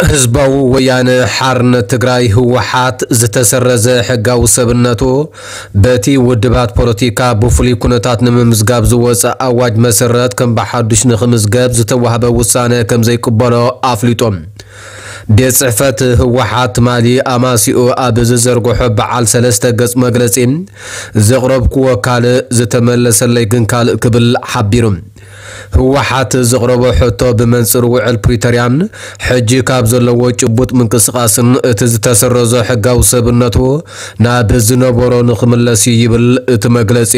ህዝባዊ ወያነ ሓርነት ትግራይ ህወሓት ዝተሰረዘ ሕጋዊ ሰብነቱ በቲ ውድባት ፖለቲካ ብፍሉይ ኩነታት ንምምዝጋብ ዝወፀ ኣዋጅ መሰረት ከም ብሓዱሽ ንክምዝገብ ዝተዋህበ ውሳነ ከም ዘይቅበሎ ኣፍሊጦም። ቤት ጽሕፈት ህወሓት ትማሊ ኣማሲኡ ኣብ ዝዘርግሖ በዓል ሰለስተ ገጽ መግለጺ፣ ዘቕረብክዎ ካልእ፣ ዝተመለሰለይ ግን ካልእ ክብል ሓቢሩ። ህወሓት ዘቕረቦ ሕቶ ብመንጽር ውዕል ፕሪቶርያን ሕጂ ካብ ዘለዎ ጭቡጥ ምንቅስቓስን እቲ ዝተሰረዞ ሕጋዊ ሰብነቱ ናብ ዝነበሮ ንኽምለስ እዩ ይብል እቲ መግለጺ።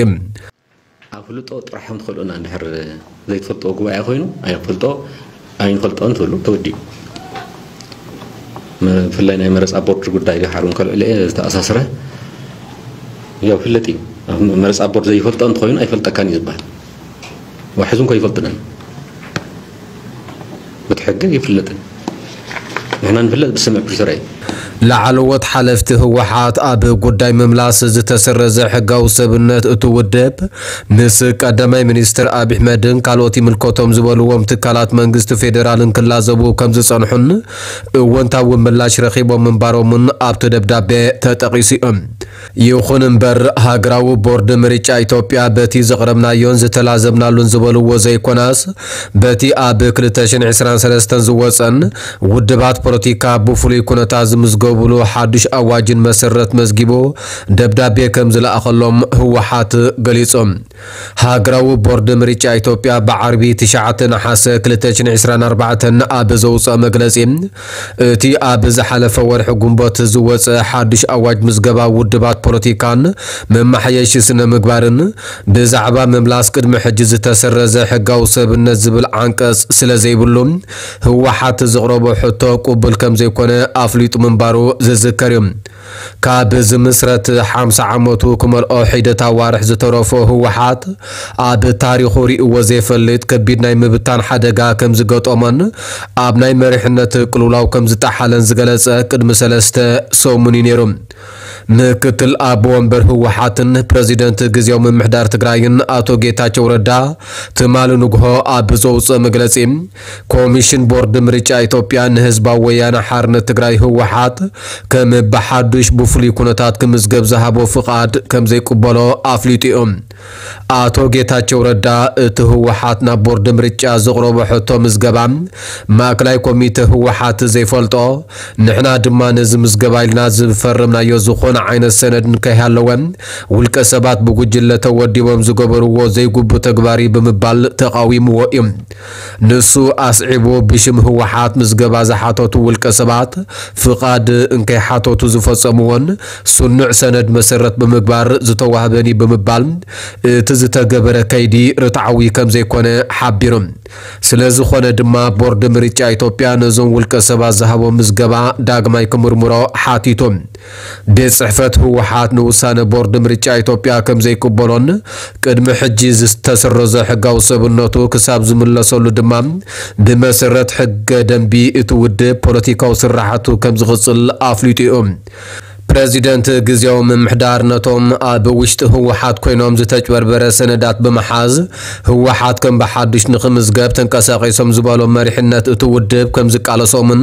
ኣፍልጦ ጥራሕ እንትኽእሉና እንድሕር ዘይትፈልጥዎ ጉባኤ ኮይኑ ኣይፈልጦ ኣይንፈልጦን ትብሉ ተወዲኡ። ብፍላይ ናይ መረፃ ቦርድ ጉዳይ ድሓር እውን ከልዕል እየ ዝተኣሳስረ ያው ፍለጥ እዩ። መረፃ ቦርድ ዘይፈልጦ እንተኮይኑ ኣይፈልጠካን እዩ ዝበሃል። ዋሕዙ እንኮ ይፈልጥናል። ብትሕጊ ይፍለጥን ንሕና ንፍለጥ ብስምዕ ፕሪቶርያ እዩ። ላዕለዎት ሓለፍቲ ህወሓት ኣብ ጉዳይ ምምላስ ዝተሰረዘ ሕጋዊ ሰብነት እቲ ውድብ ምስ ቀዳማይ ሚኒስትር ኣብይ ኣሕመድን ካልኦት ይምልከቶም ዝበልዎም ትካላት መንግስቲ ፌዴራልን ክላዘቡ ከም ዝጸንሑን እወንታዊ ምላሽ ረኺቦም ምንባሮምን ኣብቲ ደብዳቤ ተጠቒሱ እዩ። ይኹን እምበር ሃገራዊ ቦርድ ምርጫ ኢትዮጵያ በቲ ዘቕረብናዮን ዝተላዘብናሉን ዝበልዎ ዘይኮናስ በቲ ኣብ ክልተ ሽሕን ዕስራን ሰለስተን ዝወጸን ውድባት ፖለቲካ ብፍሉይ ኩነታት ዝምዝገብሉ ሓዱሽ ኣዋጅን መሰረት መዝጊቡ ደብዳቤ ከም ዝለኣኸሎም ህወሓት ገሊጾም። ሃገራዊ ቦርድ ምርጫ ኢትዮጵያ ብዓርቢ ትሽዓተ ነሓሰ ክልተ ሽሕን ዕስራን ኣርባዕተን ኣብ ዘውፅኦ መግለፂ እቲ ኣብ ዝሓለፈ ወርሒ ጉንቦት ዝወፀ ሓዱሽ ኣዋጅ ምዝገባ ውድባት ፖለቲካን መማሓየሺ ስነ ምግባርን ብዛዕባ ምምላስ ቅድሚ ሕጂ ዝተሰረዘ ሕጋዊ ሰብነት ዝብል ዓንቀፅ ስለ ዘይብሉ ህወሓት ዘቕረቦ ሕቶ ቅቡል ከም ዘይኮነ ኣፍሊጡ ምንባሩ ዝዝከር እዩ። ካብ ዝምስረት ሓምሳ ዓመቱ ክመልኦ ሒደት ኣዋርሕ ዝተረፎ ህወሓት ኣብ ታሪኹ ርእይዎ ዘይፈልጥ ከቢድ ናይ ምብታን ሓደጋ ከም ዝገጠሞን ኣብ ናይ መሪሕነት ቅልውላው ከም ዝጠሓለን ዝገለጸ ቅድሚ ሰለስተ ሰሙን እዩ ነይሩ። ምክትል ኣቦ ወንበር ህወሓትን ፕረዚደንት ግዜያዊ ምምሕዳር ትግራይን ኣቶ ጌታቸው ረዳ ትማሊ ንግሆ ኣብ ዘውፅኦ መግለፂ ኮሚሽን ቦርድ ምርጫ ኢትዮጵያ ንህዝባዊ ወያነ ሓርነት ትግራይ ህወሓት ከም ብሓዱሽ ብፍሉይ ኩነታት ክምዝገብ ዝሃቦ ፍቓድ ከም ዘይቅበሎ ኣፍሊጡ እዩ። ኣቶ ጌታቸው ረዳ እቲ ህወሓት ናብ ቦርድ ምርጫ ዘቕረቦ ሕቶ ምዝገባ ማእከላይ ኮሚተ ህወሓት ዘይፈልጦ፣ ንሕና ድማ ነዚ ምዝገባ ኢልና ዝፈረምናዮ ዝኾነ ዓይነት ሰነድ እንከይሃለወ ውልቀ ሰባት ብጉጅለ ተወዲቦም ዝገበርዎ ዘይግቡእ ተግባር እዩ ብምባል ተቓዊምዎ እዩ። ንሱ ኣስዒቡ ብሽም ህወሓት ምዝገባ ዝሓተቱ ውልቀ ሰባት ፍቓድ እንከይሓተቱ ዝፈጸምዎን ስኑዕ ሰነድ መሰረት ብምግባር ዝተዋህበን እዩ ብምባል እቲ ዝተገበረ ከይዲ ርትዓዊ ከም ዘይኮነ ሓቢሩ። ስለ ዝኾነ ድማ ቦርድ ምርጫ ኢትዮጵያ ነዞም ውልቀ ሰባት ዝሃቦ ምዝገባ ዳግማይ ክምርምሮ ሓቲቱ። ቤት ጽሕፈት ህወሓት ንውሳነ ቦርድ ምርጫ ኢትዮጵያ ከም ዘይቅበሎን ቅድሚ ሕጂ ዝተሰረዘ ሕጋዊ ሰብነቱ ክሳብ ዝምለሰሉ ድማ ብመሰረት ሕገ ደንቢ እቲ ውድብ ፖለቲካዊ ስራሓቱ ከም ዝቕጽል ኣፍሊጡ እዩ። ፕረዚደንት ግዜያዊ ምምሕዳር ነቶም ኣብ ውሽጢ ህወሓት ኮይኖም ዝተጭበርበረ ሰነዳት ብምሓዝ ህወሓት ከም ብሓዱሽ ንኽምዝገብ ተንቀሳቒሶም ዝበሎም መሪሕነት እቲ ውድብ ከም ዝቃለሶምን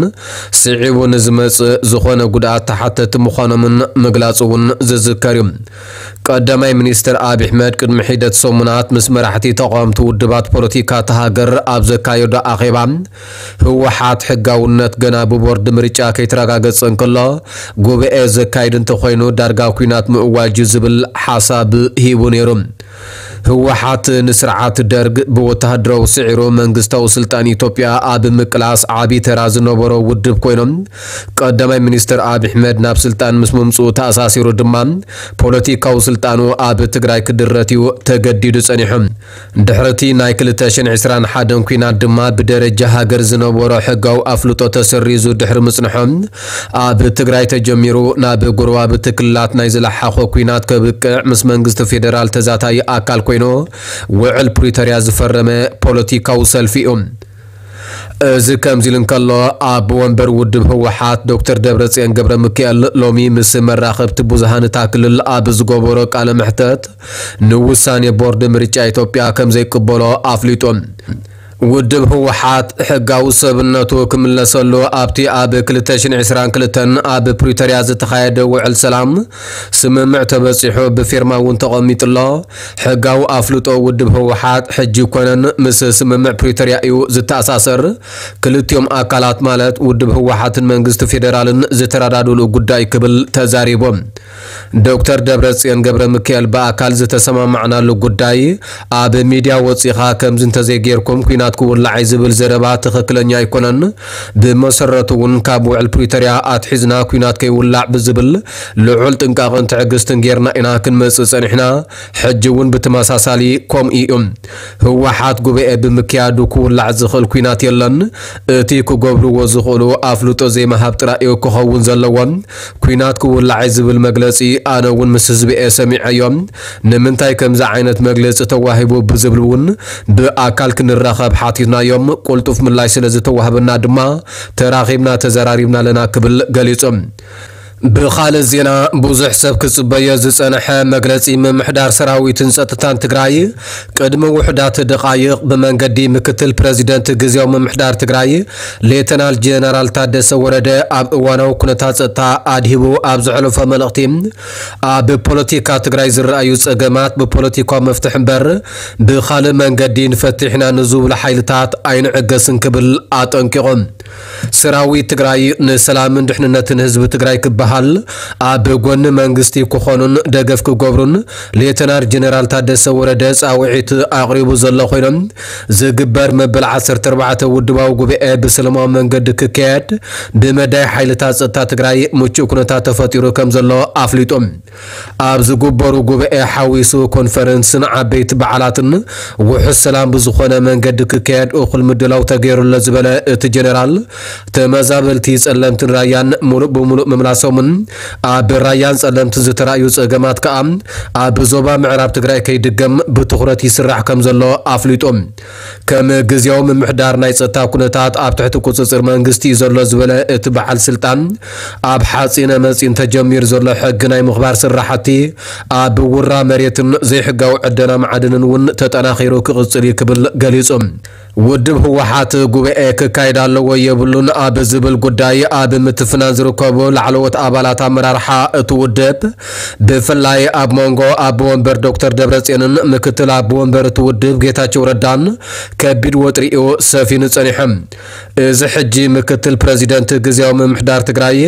ስዒቡ ንዝመጽእ ዝኾነ ጉድኣት ተሓተቲ ምዃኖምን ምግላጹ እውን ዝዝከር እዩ። ቀዳማይ ሚኒስትር ኣብይ ኣሕመድ ቅድሚ ሒደት ሰሙናት ምስ መራሕቲ ተቓወምቲ ውድባት ፖለቲካ እታ ሃገር ኣብ ዘካየዶ ኣኼባ ህወሓት ሕጋውነት ገና ብቦርድ ምርጫ ከይተረጋገጸ እንከሎ ጉባኤ ዘካይድ እንተኾይኑ ዳርጋ ኲናት ምእዋጅ እዩ ዝብል ሓሳብ ሂቡ ነይሩ። ህወሓት ንስርዓት ደርግ ብወተሃደራዊ ስዒሩ መንግስታዊ ስልጣን ኢትዮጵያ ኣብ ምቅላስ ዓቢ ተራ ዝነበሮ ውድብ ኮይኖም ቀዳማይ ሚኒስትር ኣብይ ኣሕመድ ናብ ስልጣን ምስ ምምፅኡ ተኣሳሲሩ ድማ ፖለቲካዊ ስልጣኑ ኣብ ትግራይ ክድረት እዩ ተገዲዱ ጸኒሑ። ድሕሪ እቲ ናይ ክልተ ሽሕን ዕስራን ሓደን ኲናት ድማ ብደረጃ ሃገር ዝነበሮ ሕጋዊ ኣፍልጦ ተሰሪዙ ድሕሪ ምጽንሑ ኣብ ትግራይ ተጀሚሩ ናብ ጎረባብቲ ክልላት ናይ ዝለሓኾ ኲናት ከብቅዕ ምስ መንግስቲ ፌደራል ተዛታዪ ኣካል ኮይኑ ውዕል ፕሪቶርያ ዝፈረመ ፖለቲካዊ ሰልፊ እዩ። እዚ ከምዚ ኢሉ እንከሎ ኣቦ ወንበር ውድብ ህወሓት ዶክተር ደብረጽዮን ገብረ ሚካኤል ሎሚ ምስ መራኸብቲ ብዙሃን እታ ክልል ኣብ ዝገበሮ ቃለ መሕተት ንውሳኔ ቦርድ ምርጫ ኢትዮጵያ ከም ዘይቅበሎ ኣፍሊጡ። ውድብ ህወሓት ሕጋዊ ሰብነቱ ክምለሰሉ ኣብቲ ኣብ ክልተ ሽሕን ዕስራን ክልተን ኣብ ፕሪቶርያ ዝተኻየደ ውዕል ሰላም ስምምዕ ተበጺሑ ብፊርማ እውን ተቐሚጡ ኣሎ። ሕጋዊ ኣፍልጦ ውድብ ህወሓት ሕጂ ኮነን ምስ ስምምዕ ፕሪቶርያ እዩ ዝተኣሳሰር። ክልቲኦም ኣካላት ማለት ውድብ ህወሓትን መንግስቲ ፌዴራልን ዝተረዳድሉ ጉዳይ ክብል ተዛሪቦም። ዶክተር ደብረጽዮን ገብረ ሚካኤል ብኣካል ዝተሰማማዕናሉ ጉዳይ ኣብ ሚድያ ወጺኻ ከምዚ እንተዘይጌርኩም ኲናት ክውላዕ እዩ ዝብል ዘረባ ትኽክለኛ ኣይኮነን። ብመሰረቱ እውን ካብ ውዕል ፕሪቶርያ ኣትሒዝና ኲናት ከይውላዕ ብዝብል ልዑል ጥንቃቐን ትዕግስትን ጌርና ኢና ክንመጽእ ጸኒሕና። ሕጂ እውን ብተመሳሳሊ ከምኡ እዩ። ህወሓት ጉባኤ ብምክያዱ ክውላዕ ዝኽእል ኲናት የለን። እቲ ክገብርዎ ዝኽእሉ ኣፍልጦ ዘይምሃብ ጥራይ እዩ ክኸውን ዘለዎ። ኲናት ክውላዕ እዩ ዝብል መግለጺ ኣነ እውን ምስ ህዝቢ እየ ሰሚዐዮ። ንምንታይ ከምዚ ዓይነት መግለጺ ተዋሂቡ ብዝብል እውን ብኣካል ክንራኸብ ሓቲትናዮም። ቁልጡፍ ምላሽ ስለ ዝተዋህበና ድማ ተራኺብና ተዘራሪብና ኣለና ክብል ገሊጹ። ብኻልእ ዜና፣ ብዙሕ ሰብ ክጽበዮ ዝጸንሐ መግለጺ ምምሕዳር ሰራዊትን ጸጥታን ትግራይ ቅድሚ ውሑዳት ደቓይቕ ብመንገዲ ምክትል ፕረዚደንት ግዝያዊ ምምሕዳር ትግራይ ሌተናል ጀነራል ታደሰ ወረደ ኣብ እዋናዊ ኩነታት ጸጥታ ኣድሂቡ ኣብ ዘሕለፎ መልእኽቲ፣ ኣብ ፖለቲካ ትግራይ ዝረኣዩ ጸገማት ብፖለቲካዊ መፍትሒ እምበር ብኻልእ መንገዲ ንፈትሕ ኢና ንዝብሉ ሓይልታት ኣይንዕገስን ክብል ኣጠንቂቑ። ሰራዊት ትግራይ ንሰላምን ድሕንነትን ህዝቢ ትግራይ ክበሃል ኣብ ጎኒ መንግስቲ ክኾኑን ደገፍ ክገብሩን ሌተናል ጀነራል ታደሰ ወረደ ጻውዒት ኣቕሪቡ ዘሎ ኮይኖም፣ ዝግበር መበል ዓሰርተ ኣርባዕተ ውድባዊ ጉባኤ ብሰላማዊ መንገዲ ክካየድ ብመዳይ ሓይልታት ጸጥታ ትግራይ ምቹእ ኩነታት ተፈጢሩ ከም ዘሎ ኣፍሊጡ። ኣብ ዝግበሩ ጉባኤ ሓዊሱ ኮንፈረንስን ዓበይቲ በዓላትን ውሑስ ሰላም ብዝኾነ መንገዲ ክካየድ እኹል ምድላው ተገይሩ ኣሎ ዝበለ እቲ ጀነራል፣ ተመዛበልቲ ጸለምትን ራያን ሙሉእ ብሙሉእ ምምላሶምን ኣብ ራያን ጸለምትን ዝተራእዩ ጸገማት ከኣ ኣብ ዞባ ምዕራብ ትግራይ ከይድገም ብትኹረት ይስራሕ ከም ዘሎ ኣፍሊጡ። ከም ግዝያዊ ምምሕዳር ናይ ጸጥታ ኩነታት ኣብ ትሕቲ ቁጽጽር መንግስቲ እዩ ዘሎ ዝበለ እቲ በዓል ስልጣን፣ ኣብ ሓጺነ መጺን ተጀሚሩ ዘሎ ሕጊ ናይ ምኽባር ስራሕቲ ኣብ ውራ መሬትን ዘይሕጋዊ ዕደና ማዕድንን እውን ተጠናኺሩ ክቕጽል እዩ ክብል ገሊጹ። ውድብ ህወሓት ጉባኤ ክካየድ ኣለዎ የብሉን ኣብ ዝብል ጉዳይ ኣብ ምትፍናን ዝርከቡ ላዕለዎት ኣባላት ኣመራርሓ እቲ ውድብ፣ ብፍላይ ኣብ መንጎ ኣቦ ወንበር ዶክተር ደብረጽዮንን ምክትል ኣቦ ወንበር እቲ ውድብ ጌታቸው ረዳን ከቢድ ወጥሪ እዩ ሰፊኑ ጸኒሑ። እዚ ሕጂ ምክትል ፕረዚደንት ግዝያዊ ምምሕዳር ትግራይ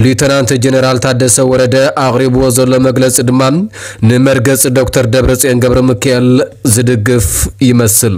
ሊዩተናንት ጀነራል ታደሰ ወረደ ኣቕሪብዎ ዘሎ መግለጺ ድማ ንመርገጺ ዶክተር ደብረጽዮን ገብረ ሚካኤል ዝድግፍ ይመስል።